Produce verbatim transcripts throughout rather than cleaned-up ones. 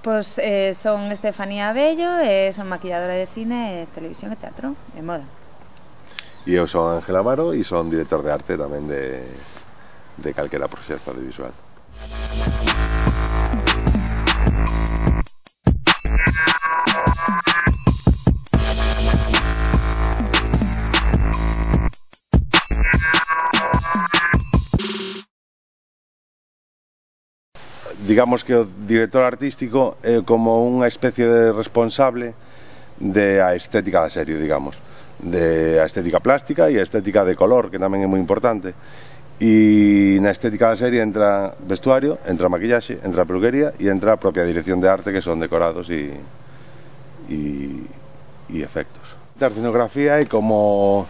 Pois eh, son Estefanía Abello, e son maquilladora de cine, televisión e teatro e moda. E eu son Ángel Amaro e son director de arte tamén de, de calquera proxecto audiovisual. Digamos que o director artístico é como unha especie de responsable de a estética da serie, digamos, de a estética plástica e a estética de color, que tamén é moi importante. E na estética da serie entra vestuario, entra maquillaxe, entra peluquería e entra a propia dirección de arte, que son decorados e, e, e efectos. A escenografía é como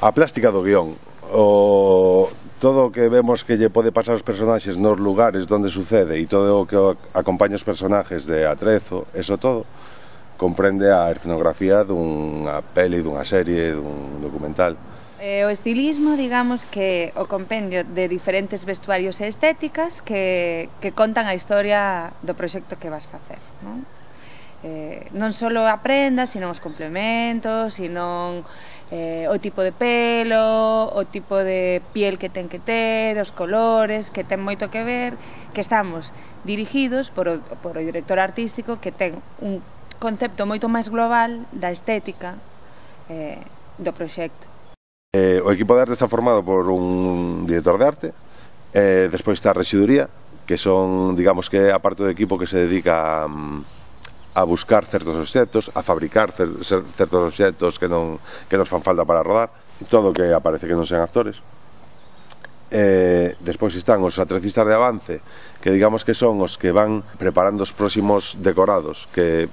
a plástica do guión, o todo o que vemos que lle pode pasar aos personaxes nos lugares onde sucede e todo o que acompaña os personaxes de atrezo, eso todo comprende a escenografía dunha peli, dunha serie, dun documental. O estilismo, digamos, que o compendio de diferentes vestuarios e estéticas que, que contan a historia do proxecto que vas facer, non? Eh, non só a prenda, sino os complementos, sino eh, o tipo de pelo, o tipo de piel que ten que ter, os colores, que ten moito que ver, que estamos dirigidos por o, por o director artístico, que ten un concepto moito máis global da estética eh, do proxecto. Eh, o equipo de arte está formado por un director de arte, eh, despois está a rexiduría, que son, digamos que a parte do equipo que se dedica a, a buscar certos obxectos, a fabricar cer, certos obxectos que, non, que nos fan falta para rodar, todo o que aparece que non sean actores. Eh, despois están os atrecistas de avance, que digamos que son os que van preparando os próximos decorados que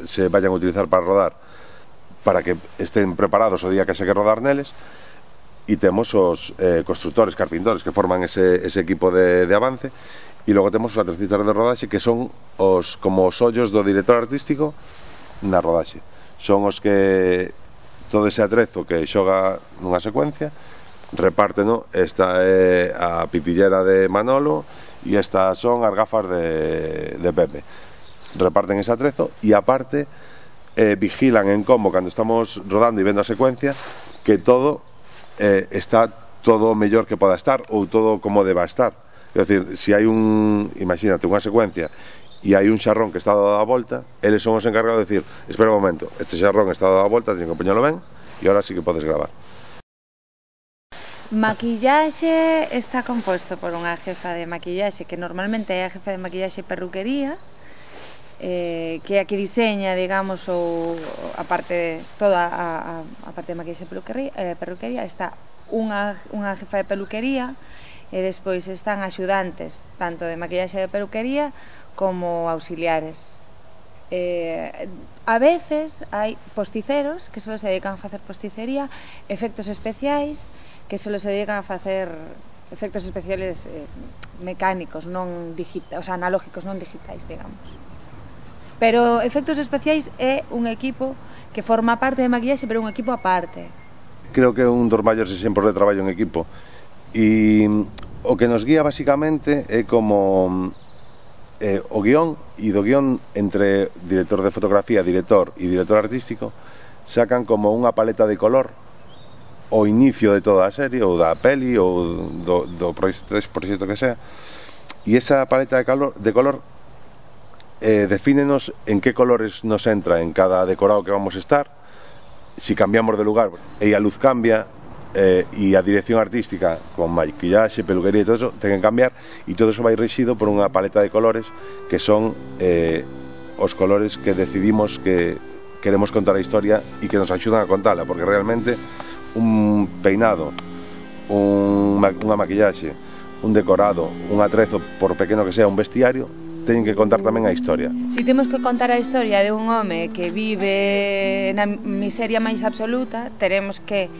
se vayan a utilizar para rodar, para que estén preparados o día que se que rodar neles. E temos os eh, constructores, carpintores, que forman ese, ese equipo de, de avance, e logo temos os atrecistas de rodaxe, que son os, como os ollos do director artístico na rodaxe. Son os que todo ese atrezo que xoga nunha secuencia repárteno. Esta é a pitillera de Manolo e estas son as gafas de, de Pepe. Reparten ese atrezo e aparte eh, vigilan en como, cando estamos rodando e vendo a secuencia, que todo eh, está todo o mellor que poda estar ou todo como deba estar. É dicir, se hai un, imagínate, unha secuencia e hai un xarrón que está dado a volta, eles son os encargados de decir, espera un momento, este xarrón está dado a volta, teño que poñelo ben e ahora sí que podes gravar. Maquillaxe está composto por unha jefa de maquillaxe, que normalmente é a jefa de maquillaxe e perruquería, eh, que é a que diseña, digamos, ou a parte, toda a, a, a parte de maquillaxe e peluquería, eh, perruquería. Está unha, unha jefa de peluquería, e despois están axudantes, tanto de maquillaxe e de peluquería, como auxiliares. Eh, a veces hai posticeros, que só se dedican a facer posticería, efectos especiais, que só se dedican a facer efectos especiales eh, mecánicos, non digitais, o sea, analógicos, non digitais, digamos. Pero efectos especiais é un equipo que forma parte de maquillaxe, pero un equipo aparte. Creo que é un dos maiores exemplos de traballo en equipo. E o que nos guía basicamente é como eh, o guión, e do guión entre director de fotografía, director e director artístico sacan como unha paleta de color o inicio de toda a serie ou da peli ou do, do proxecto, proxecto que sea, e esa paleta de, calor, de color eh, defínenos en que colores nos entra en cada decorado que vamos a estar, si cambiamos de lugar e a luz cambia, Eh, e a dirección artística con maquillaxe, peluquería e todo eso ten que cambiar, e todo eso vai rexido por unha paleta de colores que son eh, os colores que decidimos que queremos contar a historia e que nos axudan a contala, porque realmente un peinado, un, unha maquillaxe, un decorado, un atrezo, por pequeno que sea, un vestiario, teñen que contar tamén a historia. Si temos que contar a historia de un home que vive na miseria máis absoluta, teremos que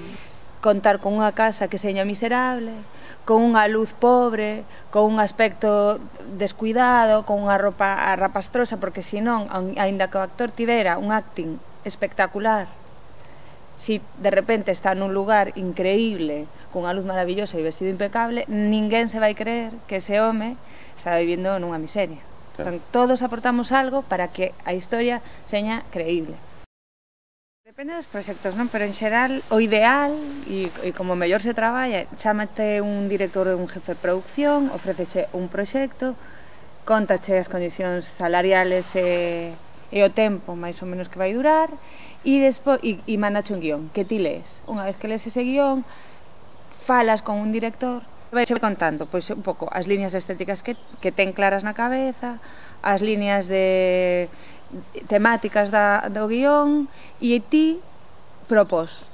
contar con unha casa que seña miserable, con unha luz pobre, con un aspecto descuidado, con unha roupa rapastrosa, porque senón, aínda que o actor tivera un acting espectacular, si de repente está nun lugar increíble, con unha luz maravillosa e vestido impecable, ninguén se vai creer que ese home está vivindo nunha miseria. Entón, todos aportamos algo para que a historia seña creíble. Depende dos proxectos, non? Pero en xeral, o ideal, e, e como mellor se traballa, chámate un director ou un jefe de producción, ofréceche un proxecto, contache as condicións salariales e, e o tempo máis ou menos que vai durar, e, despo, e, e mandache un guión, que ti lees. Unha vez que lees ese guión, falas con un director, vai contando pois, un pouco as líneas estéticas que, que ten claras na cabeza, as líneas de temáticas da, do guión, e ti propós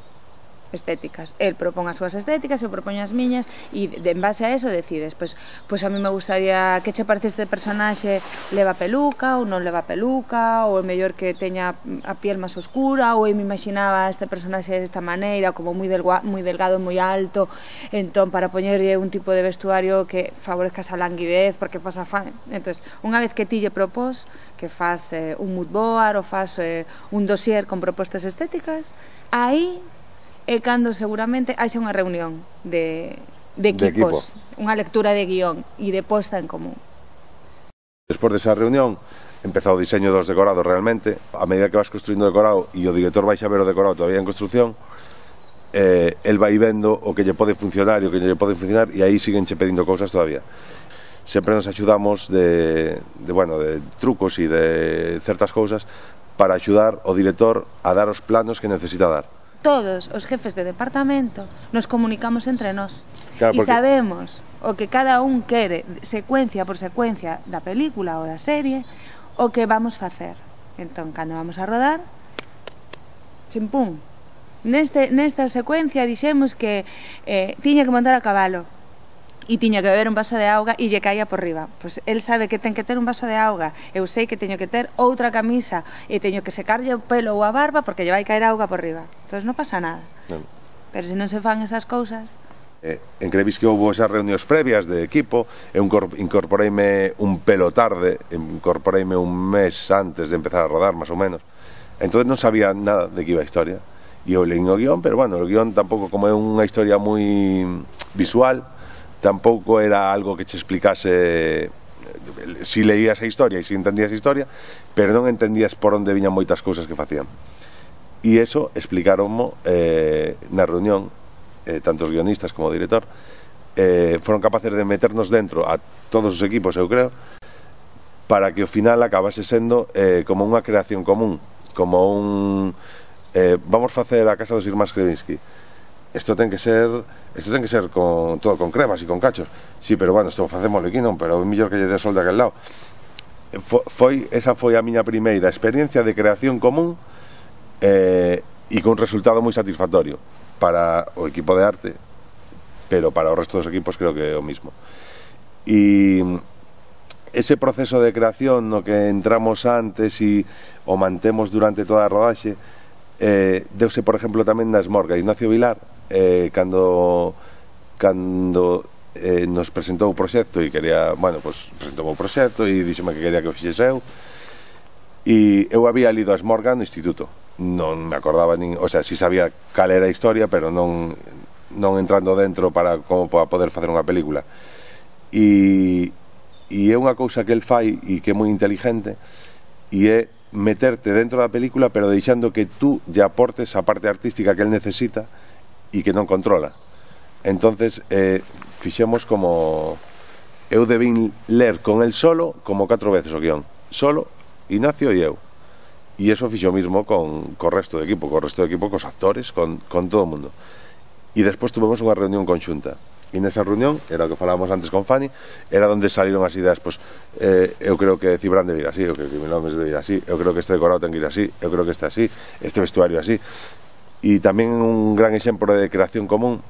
estéticas. El propón as súas estéticas, eu propoño as miñas, e de, en base a eso decides, pois, pois a mí me gustaría que che parece este personaxe leva peluca ou non leva peluca, ou é mellor que teña a piel máis oscura, ou eu me imaginaba este personaxe desta maneira, como moi, delgua, moi delgado e moi alto, entón para poñerlle un tipo de vestuario que favorezca esa languidez, porque pasa fan. Entón, unha vez que ti lle propós, que faz eh, un mood board ou faz eh, un dossier con propostas estéticas, aí é cando seguramente haxa unha reunión de, de equipos, de equipo. Unha lectura de guión e de posta en común. Despois desa reunión empeza o diseño dos decorados realmente. A medida que vas construindo o decorado e o director vai xa ver o decorado todavía en construcción, eh, el vai vendo o que lle pode funcionar e o que lle pode funcionar, e aí siguen che pedindo cousas todavía. Sempre nos axudamos de, de, bueno, de trucos e de certas cousas para axudar o director a dar os planos que necesita dar. Todos os jefes de departamento nos comunicamos entre nós, claro, porque... e sabemos o que cada un quere, secuencia por secuencia da película ou da serie, o que vamos facer. Entón, cando vamos a rodar, chimpún, neste, nesta secuencia dixemos que eh, tiña que montar a cabalo e tiña que beber un vaso de auga e lle caía por riba. Pois el sabe que ten que ter un vaso de auga, eu sei que teño que ter outra camisa e teño que secarlle o pelo ou a barba porque lle vai caer auga por riba. Entón non pasa nada. Non. Pero se non se fan esas cousas... Eh, en Crevis que houve esas reunións previas de equipo, eu incorporeime un pelo tarde, incorporeime un mes antes de empezar a rodar, máis ou menos. Entón non sabía nada de que iba a historia. E eu leín o guión, pero bueno, o guión tampouco, como é unha historia moi visual, tampouco era algo que che explicase si leías a historia e si entendías a historia, pero non entendías por onde viñan moitas cousas que facían. E iso explicaronmo eh, na reunión, eh, tanto os guionistas como o director, eh, foron capaces de meternos dentro a todos os equipos, eu creo, para que ao final acabase sendo eh, como unha creación común, como un... Eh, vamos facer a casa dos irmáns Krevinsky. Isto ten que ser, isto ten que ser con todo con cremas e con cachos. Sí, pero bueno, isto facémoslo aquí non, pero é mellor que lle dé sol de aquel lado. Foi, esa foi a miña primeira experiencia de creación común eh, e con resultado moi satisfactorio para o equipo de arte, pero para o resto dos equipos creo que é o mismo. E ese proceso de creación no que entramos antes e o mantemos durante toda a rodaxe, eh, deuse, por exemplo, tamén na Esmorga. Ignacio Vilar, eh, cando cando eh, nos presentou o proxecto e quería, bueno, pues presentou o proxecto e díxeme que quería que o fixese eu, e eu había lido a Esmorga no instituto, non me acordaba nin, o sea, si sabía cal era a historia, pero non non entrando dentro para como para poder facer unha película. E e é unha cousa que el fai e que é moi inteligente, e é meterte dentro da película pero deixando que tú lle aportes a parte artística que el necesita e que non controla. Entonces eh, fixemos como eu debín ler con el solo como catro veces o guión, solo Ignacio e eu, e iso fixo mismo con co resto do equipo, co resto do equipo, cos actores, con, con todo o mundo. E despois tuvemos unha reunión conxunta, e nesa reunión, era o que falábamos antes con Fanny, era onde saliron as ideas, pois, eh, eu creo que Cibran debe ir así, eu creo que Milhomes debe ir así, eu creo que este decorado ten que ir así, eu creo que este así, este vestuario así. E tamén un gran exemplo de creación común,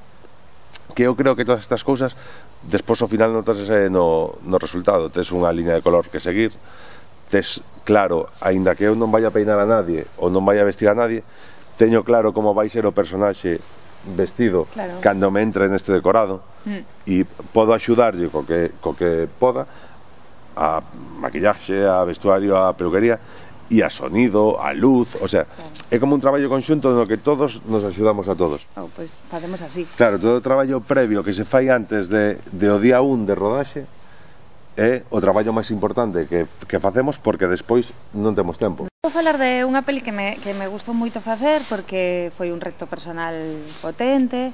que eu creo que todas estas cousas despois ao final notas no, no resultado. Tes unha liña de color que seguir, tes claro, aínda que eu non vai a peinar a nadie ou non vai a vestir a nadie, teño claro como vai ser o personaxe vestido, claro, cando me entre neste decorado, mm. e podo axudarlle co que, co que poda a maquillaxe, a vestuario, a peluquería e a sonido, a luz, o sea, claro, é como un traballo conxunto no que todos nos axudamos a todos. Oh, pois pues, facemos así. Claro, todo o traballo previo que se fai antes de, de o día un de rodaxe é o traballo máis importante que, que facemos porque despois non temos tempo. Vou falar de unha peli que me, que me gustou moito facer porque foi un reto personal potente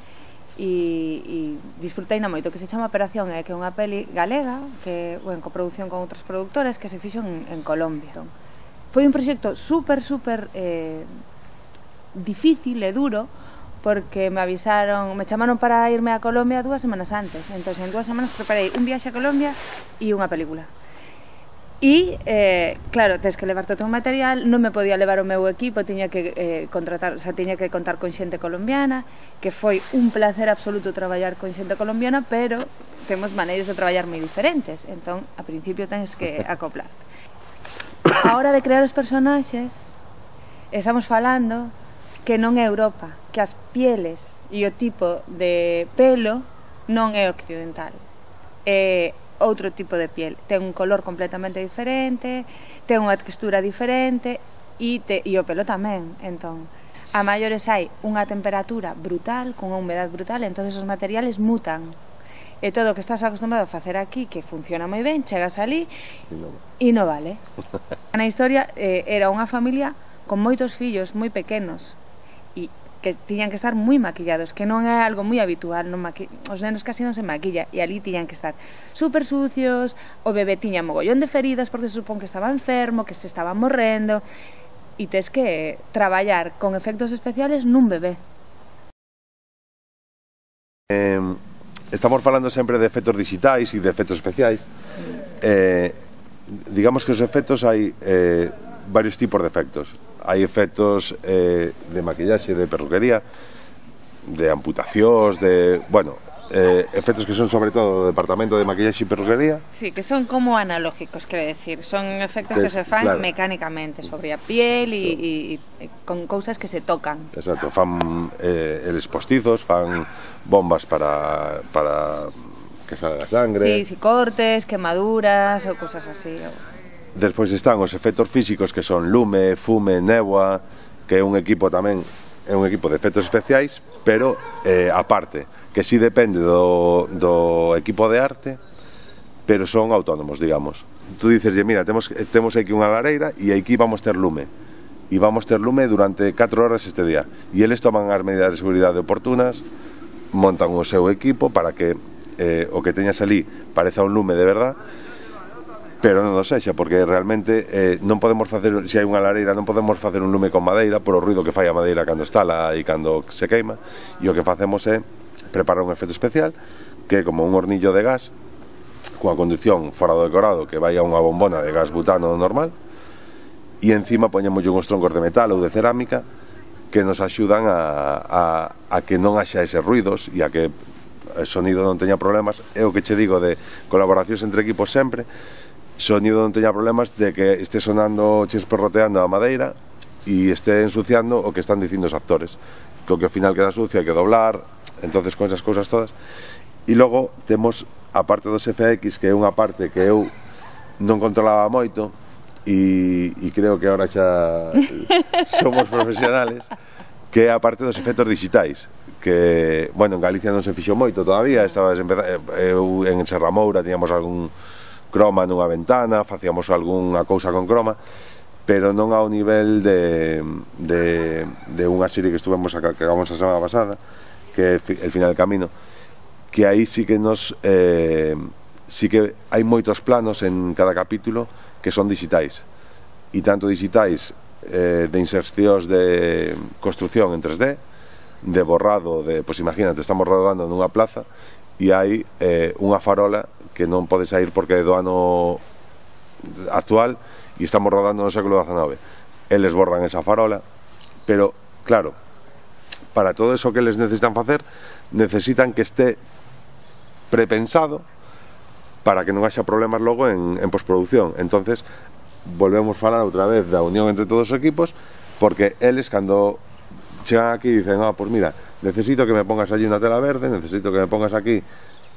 e, e disfrutei na moito, que se chama Operación E, que é unha peli galega que, en coproducción con outros produtores que se fixo en, en Colombia. Foi un proxecto super, super eh, difícil e duro porque me avisaron, me chamaron para irme a Colombia dúas semanas antes. Entón, en dúas semanas preparei un viaxe a Colombia e unha película. E, eh, claro, tens que levar todo o material, non me podía levar o meu equipo, tiña que eh, contratar, o sea, tiña que contar con xente colombiana, que foi un placer absoluto traballar con xente colombiana, pero temos maneiras de traballar moi diferentes, entón, a principio tens que acoplar. A hora de crear os personaxes, estamos falando que non é Europa, que as pieles e o tipo de pelo non é occidental, é outro tipo de piel, ten un color completamente diferente, ten unha textura diferente e, te, e o pelo tamén. Entón, a maiores hai unha temperatura brutal, con unha humedad brutal, entón os materiales mutan. E todo o que estás acostumbrado a facer aquí, que funciona moi ben, chegas ali e non vale. Na historia eh, era unha familia con moitos fillos moi pequenos e que tiñan que estar moi maquillados, que non é algo moi habitual, non maqui... os nenos casi non se maquilla, e ali tiñan que estar super sucios, o bebé tiña mogollón de feridas porque se supón que estaba enfermo, que se estaba morrendo, e tes que traballar con efectos especiales nun bebé. Eh, estamos falando sempre de efectos digitais e de efectos especiais. Eh, digamos que os efectos hai eh, varios tipos de efectos. Hai efectos eh, de maquillaxe, de perruquería, de amputacións, de, bueno, eh, efectos que son sobre todo do departamento de maquillaxe e perruquería. Sí, que son como analógicos, quero decir, son efectos que, que se fan claro. mecánicamente sobre a piel e, sí. e, e con cousas que se tocan. Exacto, fan eh, eles postizos, fan bombas para, para que salga sangre. Sí, si cortes, quemaduras ou cousas así. Despois están os efectos físicos que son lume, fume, néboa, que é un equipo tamén, é un equipo de efectos especiais, pero eh, aparte, que si depende do, do equipo de arte, pero son autónomos, digamos. Tú dices, mira, temos, temos aquí unha lareira e aquí vamos ter lume, e vamos ter lume durante catro horas este día, e eles toman as medidas de seguridade oportunas, montan o seu equipo para que eh, o que teñas ali pareza un lume de verdad, pero non o sexa, porque realmente eh, non podemos facer, se hai unha lareira, non podemos facer un lume con madeira por o ruido que fai a madeira cando estala e cando se queima, e o que facemos é preparar un efecto especial que é como un hornillo de gas coa conducción fora do decorado que vai a unha bombona de gas butano normal, e encima poñemos uns troncos de metal ou de cerámica que nos axudan a, a, a que non haxa eses ruidos e a que o sonido non teña problemas. É o que che digo de colaboracións entre equipos sempre, sonido non teña problemas de que este sonando chisperroteando a madeira e este ensuciando o que están dicindo os actores, que o que ao final queda sucio hai que doblar, entonces con esas cousas todas. E logo temos a parte dos F X, que é unha parte que eu non controlaba moito e, e creo que agora xa somos profesionales, que é a parte dos efectos digitais, que, bueno, en Galicia non se fixo moito todavía, estaba eu en Serramoura tiñamos algún croma nunha ventana, facíamos algunha cousa con croma, pero non ao nivel de, de, de unha serie que estuvemos a, que acabamos a semana pasada, que é El final del camino, que aí sí que nos eh, sí que hai moitos planos en cada capítulo que son digitais, e tanto digitais eh, de insercións de construcción en tres D, de borrado de, pois imagínate, estamos rodando nunha plaza e hai eh, unha farola que non pode sair porque é do ano actual e estamos rodando no século diecinueve. Eles bordan esa farola, pero, claro, para todo eso que eles necesitan facer, necesitan que este prepensado para que non haxa problemas logo en, en postproducción. Entonces, volvemos a falar outra vez da unión entre todos os equipos, porque eles, cando chegan aquí, dicen, ah, pues mira, necesito que me pongas allí unha tela verde, necesito que me pongas aquí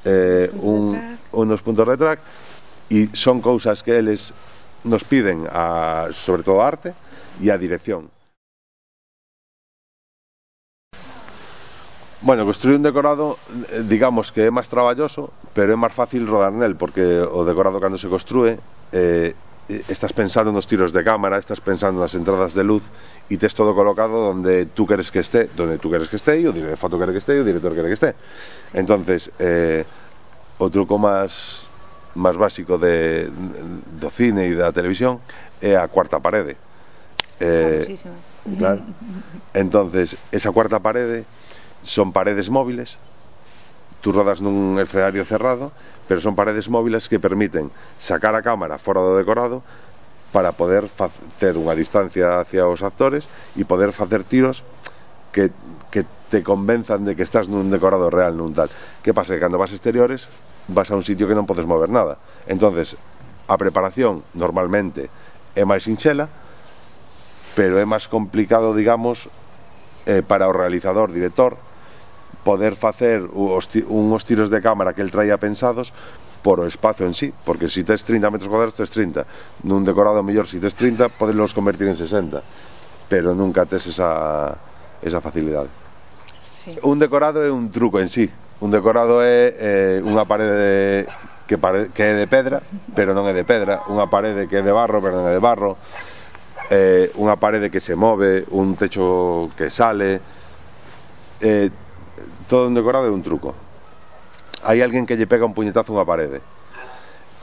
Eh, un, unos puntos de track, e son cousas que eles nos piden a, sobre todo a arte e a dirección. Bueno, construir un decorado, digamos que é máis traballoso pero é máis fácil rodar nel, porque o decorado cando se construe eh, estás pensando nos tiros de cámara, estás pensando nas entradas de luz e tes todo colocado donde tú queres que esté, donde tú queres que esté e o director de foto quere que esté e o director quere que esté. Sí. Entonces, eh, o truco máis máis básico de, do cine e da televisión é a cuarta parede. Eh, claro. Entonces, esa cuarta parede son paredes móviles. Tú rodas nun escenario cerrado, pero son paredes móviles que permiten sacar a cámara fora do decorado para poder ter unha distancia hacia os actores e poder facer tiros que, que te convenzan de que estás nun decorado real, nun tal. Que pasa? Que cando vas a exteriores vas a un sitio que non podes mover nada. Entonces, a preparación normalmente é máis sinxela, pero é máis complicado, digamos, eh, para o realizador, director, poder facer uns tiros de cámara que el traía pensados por o espacio en sí, porque se si tes trinta metros cuadrados tes trinta, nun decorado mellor se si tes trinta podelos convertir en sesenta, pero nunca tes esa, esa facilidade. Sí. Un decorado é un truco en sí, un decorado é eh, unha parede que, pare, que é de pedra, pero non é de pedra, unha parede que é de barro, pero non é de barro, eh, unha parede que se move, un techo que sale, eh, todo un decorado é un truco. Hai alguén que lle pega un puñetazo a unha parede.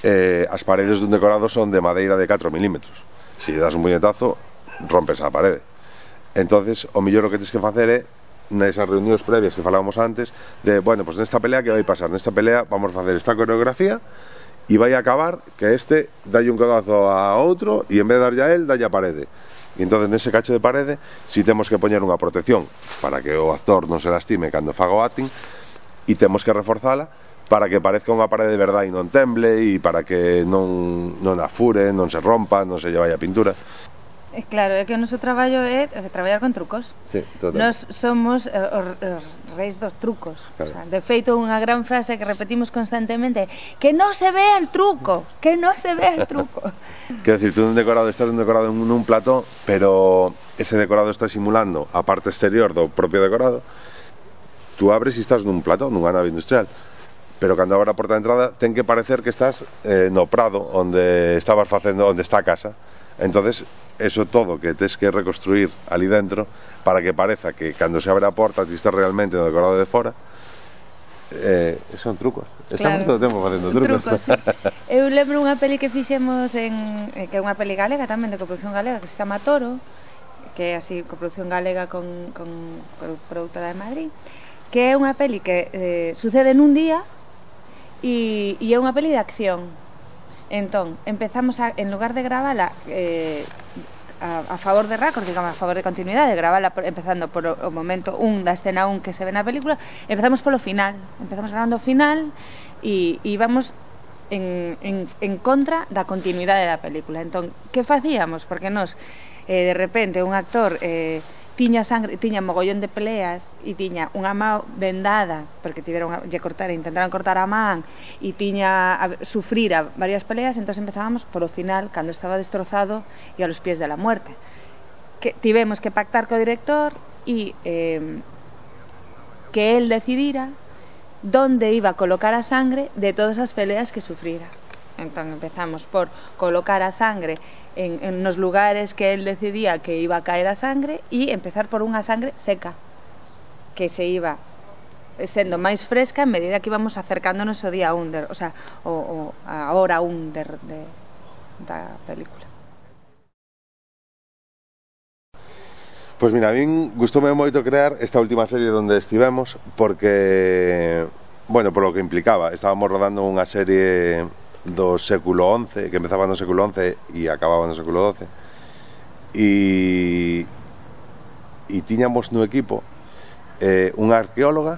Eh, as paredes dun decorado son de madeira de catro milímetros. Se lle das un puñetazo, rompes a parede. Entonces, o mellor o que tens que facer é, nesas reunións previas que falábamos antes, de, bueno, pues nesta pelea que vai pasar? Nesta pelea vamos a facer esta coreografía e vai a acabar que este dalle un codazo a outro e en vez de darlle a él, dalle a parede. E entón, nese cacho de parede, si temos que poñer unha protección para que o actor non se lastime cando faga o acting, e temos que reforzala para que parezca unha parede de verdade e non temble, e para que non, non afure, non se rompa, non se lle vai a pintura. Claro, é que o noso traballo é traballar con trucos. Sí, Nos somos os, os reis dos trucos. Claro. O sea, de feito, unha gran frase que repetimos constantemente, que non se vea el truco, que non se vea el truco. Quero dicir, tú nun decorado, estás nun decorado nun plató, pero ese decorado está simulando a parte exterior do propio decorado. Tú abres e estás nun plató, nunha nave industrial, pero cando abres a porta de entrada ten que parecer que estás eh, no prado onde estabas facendo, onde está a casa. Entonces, eso todo que tes que reconstruir ali dentro para que pareza que cando se abre a porta ti estás realmente no decorado de fora, eh, son trucos. Estamos claro. Todo o tempo facendo trucos. trucos sí. Eu lembro unha peli que fixemos en, que é unha peli galega tamén, de coproducción galega, que se chama Toro, que é así, coproducción galega con, con, con productora de Madrid, que é unha peli que eh, sucede nun día e, e é unha peli de acción. Entón, empezamos a, en lugar de gravala eh, a, a favor de récord, digamos, a favor de continuidade, gravala por, empezando por o, o momento un da escena un que se ve na película, empezamos polo final, empezamos grabando o final e, e vamos en, en, en contra da continuidade da película. Entón, que facíamos? Porque nos, eh, de repente, un actor eh, tiña sangre, tiña mogollón de peleas e tiña unha mão vendada porque tiveron a lle cortar, intentaron cortar a man e tiña a sufrir a varias peleas, entón empezábamos por o final cando estaba destrozado e a los pies de la muerte. Que tivemos que pactar co director e eh, que él decidira donde iba a colocar a sangre de todas as peleas que sufrira. Entón empezamos por colocar a sangre en, en nos lugares que él decidía que iba a caer a sangre e empezar por unha sangre seca que se iba sendo máis fresca en medida que íbamos acercándonos ao día un, de, o sea, o, o a hora un de, de, da película. Pois mira, a min gustoume moito crear esta última serie onde estivemos porque, bueno, por lo que implicaba, estábamos rodando unha serie do século once, que empezaba no século once e acababa no século doce, e e tiñamos no equipo eh, unha arqueóloga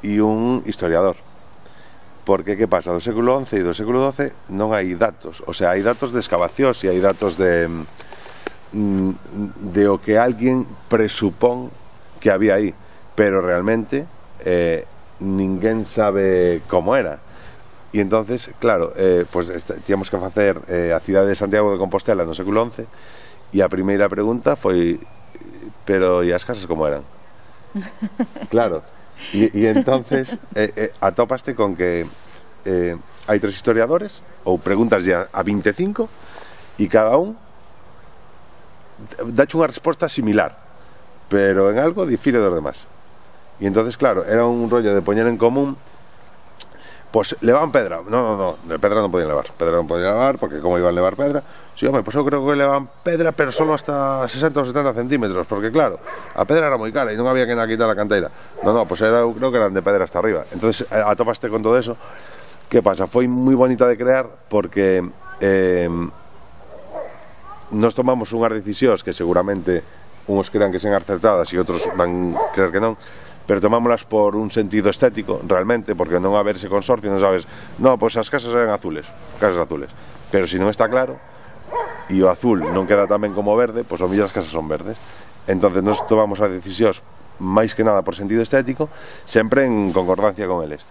e un historiador, porque que pasa, do século once e do século doce non hai datos, o sea, hai datos de excavacións e hai datos de de o que alguén presupón que había aí, pero realmente eh, ninguén sabe como era. E entonces, claro, eh, pues tíamos que facer eh, a cidade de Santiago de Compostela no século once e a primeira pregunta foi, pero e as casas como eran? Claro, e, e entonces eh, eh, atopaste con que eh, hai tres historiadores, ou preguntas a, a vinte e cinco, e cada un dache unha resposta similar, pero en algo difire dos demás. E entonces, claro, era un rollo de poñer en común. Pues levaban pedra. No, no, no, de pedra non podían levar. Pedra non podían levar, porque como iban a levar pedra. Sí, home, pues eu creo que levaban pedra, pero solo hasta sesenta ou setenta centímetros, porque claro, a pedra era moi cara e non había que na quitar a canteira. No, no, pues era, eu creo que eran de pedra hasta arriba. Entonces, atopaste con todo eso. Que pasa? Foi moi bonita de crear, porque eh, nos tomamos unhas decisións que seguramente uns crean que sean acertadas e outros van creer que non, pero tomámolas por un sentido estético, realmente, porque non haber ese consorcio, non sabes, no, pois as casas eran azules, casas azules, pero se non está claro, e o azul non queda tan ben como o verde, pois ao mellor as casas son verdes. Entonces nos tomamos as decisións máis que nada por sentido estético, sempre en concordancia con eles.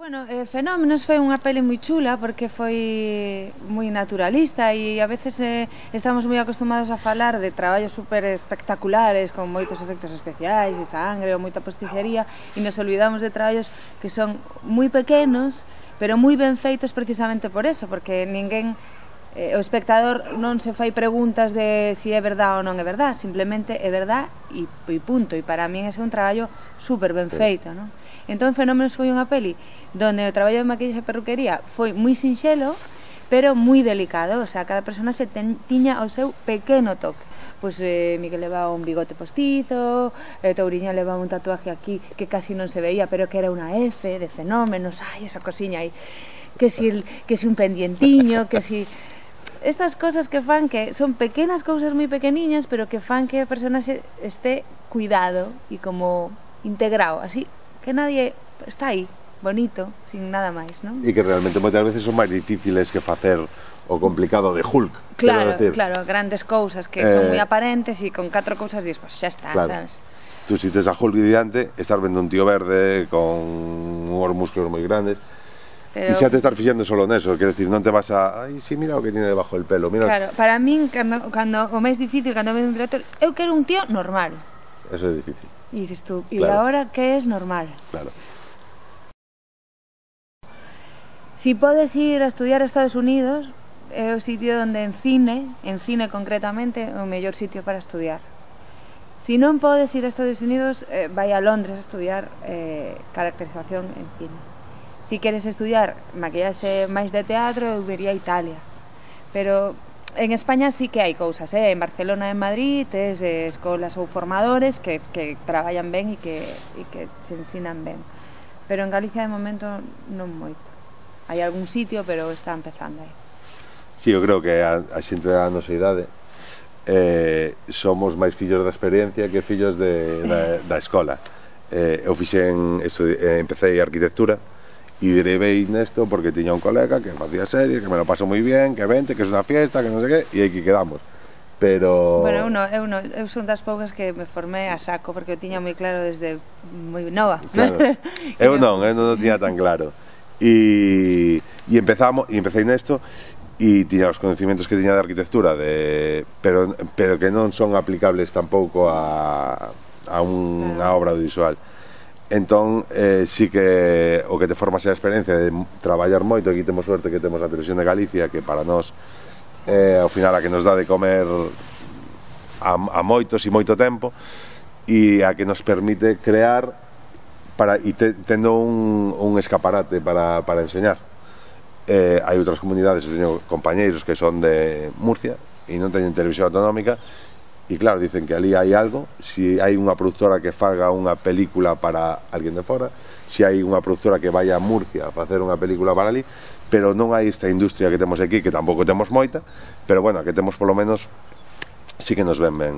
Bueno, eh, Fenómenos foi unha peli moi chula porque foi moi naturalista e a veces eh, estamos moi acostumados a falar de traballos super espectaculares con moitos efectos especiais e sangre ou moita posticería e nos olvidamos de traballos que son moi pequenos pero moi ben feitos precisamente por eso, porque ninguén, eh, o espectador non se fai preguntas de si é verdad ou non é verdad, simplemente é verdad e, e punto, e para min é un traballo super ben feito, non? Entón Fenómenos foi unha peli donde o traballo de maquillaxe e perruquería foi moi sinxelo, pero moi delicado, o sea, cada persona se ten, tiña o seu pequeno toque. Pois eh, Miguel levaba un bigote postizo, eh, Touriña levaba un tatuaje aquí que casi non se veía, pero que era unha F de Fenómenos, ai, esa cosiña aí, que si, el, que si un pendientiño, que si... Estas cosas que fan que son pequenas cousas moi pequeniñas, pero que fan que a persona se esté cuidado e como integrado, así que nadie está aí, bonito, sin nada máis, non? E que realmente moitas veces son máis difíciles que facer o complicado de Hulk. Claro, claro, grandes cousas que eh, son moi aparentes e con catro cousas dis, pues xa está, claro. Sabes? Tú si tes a Hulk diante, estás vendo un tío verde con unhos músculos moi grandes. Pero... E xa te estás fixando solo neso, quer decir, non te vas a... Ai, si, mira o que tiene debajo del pelo, mira... Claro, para min, cando, cando o máis difícil, cando vedo un director, eu quero un tío normal. Eso é difícil. E dices tú, e claro. Agora que es normal? Claro. Si podes ir a estudiar a Estados Unidos, é o sitio onde en cine, en cine concretamente, é o mellor sitio para estudiar. Si non podes ir a Estados Unidos, eh, vai a Londres a estudiar eh, caracterización en cine. Si queres estudiar maquillaxe máis de teatro, eu vería a Italia. Pero en España sí que hai cousas, eh? En Barcelona e en Madrid tes eh, escolas ou formadores que, que traballan ben e que, e que se ensinan ben. Pero en Galicia de momento non moito. Hai algún sitio, pero está empezando aí. Sí, eu creo que a, a xente da nosa idade eh, somos máis fillos da experiencia que fillos de, da, da escola. Eh, eu fixen, eh, empecé arquitectura e derivei nesto porque tiña un colega que facía series, que me lo paso moi bien, que vente, que é unha fiesta, que non sei que, e aquí quedamos. Pero... Bueno, eu, no, eu, no, eu son das poucas que me formé a saco porque eu tiña moi claro desde moi nova. Claro. Eu non, eu non o tiña tan claro. E, e empezamos, e empecé nesto e tiña os conocimientos que tiña de arquitectura, de, pero, pero que non son aplicables tampouco a, a unha claro. Obra audiovisual. Entón, eh, sí que o que te forma a experiencia de traballar moito, aquí temos suerte que temos a Televisión de Galicia, que para nós eh, ao final a que nos dá de comer a, a moitos e moito tempo, e a que nos permite crear para, e te, tendo un, un escaparate para, para enseñar. Eh, hai outras comunidades, eu teño compañeiros que son de Murcia e non teñen televisión autonómica, e claro, dicen que ali hai algo, si hai unha productora que faga unha película para alguén de fora, si hai unha productora que vai a Murcia a facer unha película para ali, pero non hai esta industria que temos aquí, que tampouco temos moita, pero bueno, que temos polo menos sí que nos ven ben